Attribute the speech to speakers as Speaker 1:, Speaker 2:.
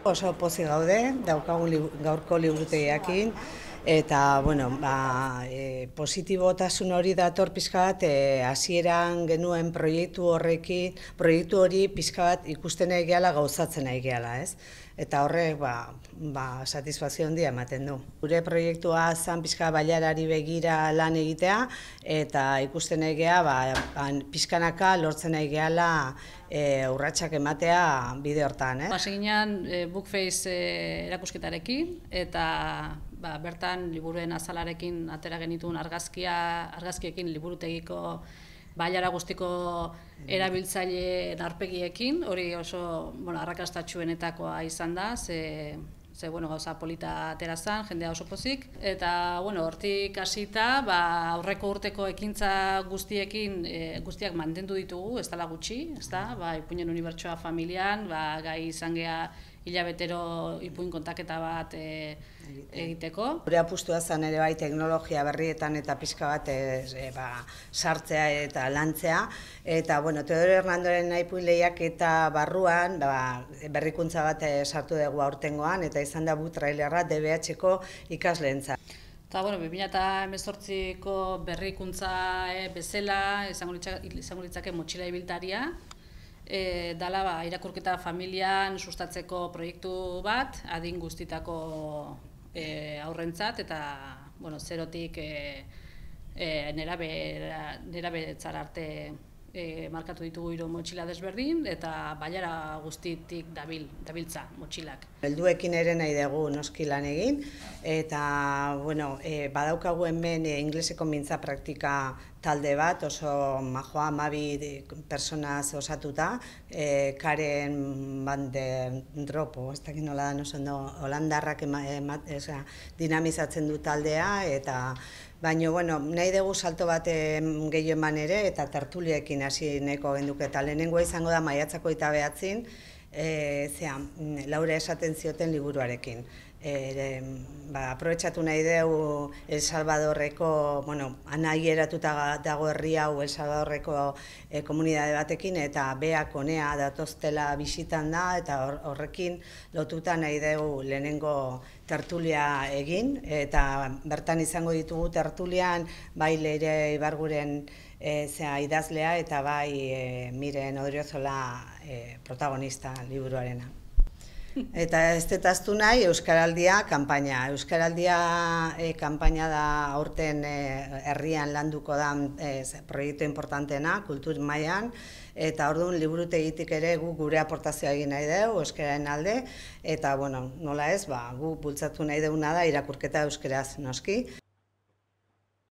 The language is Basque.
Speaker 1: Oso pozik gaude, daukagun gaurko liburutegiakin, eta positibotasun hori dator pixka bat, hasieran genuen proiektu hori pixka bat ikusten nahi gehala, gauzatzen nahi gehala, ez? Eta horrek satisfazio handia ematen du. Gure proiektua zan pixka bailarari begira lan egitea, eta ikusten nahi geha, pixkanaka lortzen nahi gehala urratsak ematea bide hortan.
Speaker 2: Hasi ginen Bookface erakusketarekin, eta bertan liburuen azalarekin atera genituen argazkiekin liburutegiko bailara guztiko erabiltzaileen aurpegiekin, hori oso arrakastatsuenetakoa izan da, ze gauza polita atera zen, jendea oso pozik. Eta hortik hasita, aurreko urteko ekintza guztiak mantendu ditugu, ez dela gutxi, Ipuinen Unibertsoa familian, gai izan geha hilabetero ipuin kontaketa bat egiteko.
Speaker 1: Gure apustua zen ere bai teknologia berrietan eta pixka bat sartzea eta lantzea. Eta Teodoro Hernandoren ipuin lehiaketa barruan berrikuntza bat sartu dugu aurtengoan, eta izan da trailerra DBH-ko ikasleentzat.
Speaker 2: Eta 2018ko berrikuntza bezala izango litzake motxila ibiltaria, dala irakurketa familian sustatzeko proiektu bat, adin guztitako aurrentzat, eta zerotik nerabetzara arte markatu ditugu 3 motxila desberdin, eta bailara guztitik dabiltza motxilak.
Speaker 1: Helduekin ere nahi dugu noski lan egin, eta badaukagu hemen ingleseko mintza praktika talde bat, oso majoa, 12 personaz osatuta, Karen van der Dropo, ez dakit nola da, holandarrak dinamizatzen du taldea, eta nahi dugu salto bat gehiago eman ere, eta tertuliekin hasi nahiko genduke, eta lehenengoa izango da maiatzako 29, Laura esaten zioten liburuarekin. Aprobetxatu nahi dugu El Salvadorreko, anai eratuta dago herri hau El Salvadorreko komunidade batekin, eta beak honea datoztela bisitan da, eta horrekin lotuta nahi dugu lehenengo tertulia egin, eta bertan izango ditugu tertulian bai Leire Ibarguren idazlea, eta bai Miren Odriozola protagonista liburuarena. Eta ez detaztu nahi Euskaraldia kanpaina. Euskaraldia kanpaina da aurten herrian landuko da proiektu importanteena, kultur mailan, eta orduan liburutegitik ere gure aportazioa egin nahi dugu euskararen alde, eta nola ez, guk bultzatu nahi duguna da irakurketa euskaraz noski.